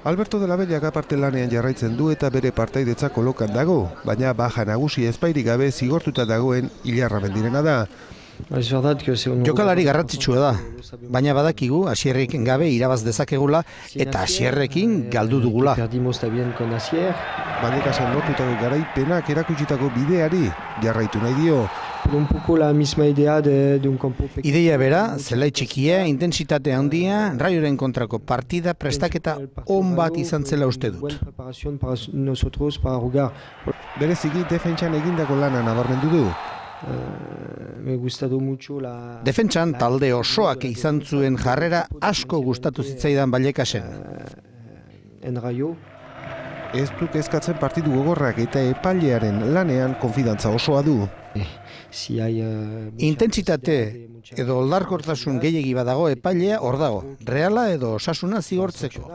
Alberto de la Bellak aparte lanean jarraitzen du eta bere partaidetza kolokan dago, baina baja nagusi ezpairik gabe zigortuta dagoen Ilarra Mendirena da. Jokalari garrantzitsua da, baina badakigu Asierrik gabe irabaz dezakegula eta Asierrekin galdu dugula. Bandekasen lortutako garaipenak erakutsitako bideari jarraitu nahi dio. Ideia bera, zelai txikia, intentsitate handia, Raioren kontrako partida prestaketa on bat izan zela uste dut. Bereziki defentsan egindako lana nabarmendu du. Defentsan talde osoak izan zuen jarrera asko gustatu zitzaidan Vallecasen. Ez du kezkatzen partidu gogorrak eta epailearen lanean konfidantza osoa du. Intentsitate edo oldarkortasun gehiegi badago epailea hor dago. Reala edo Osasuna zigortzeko.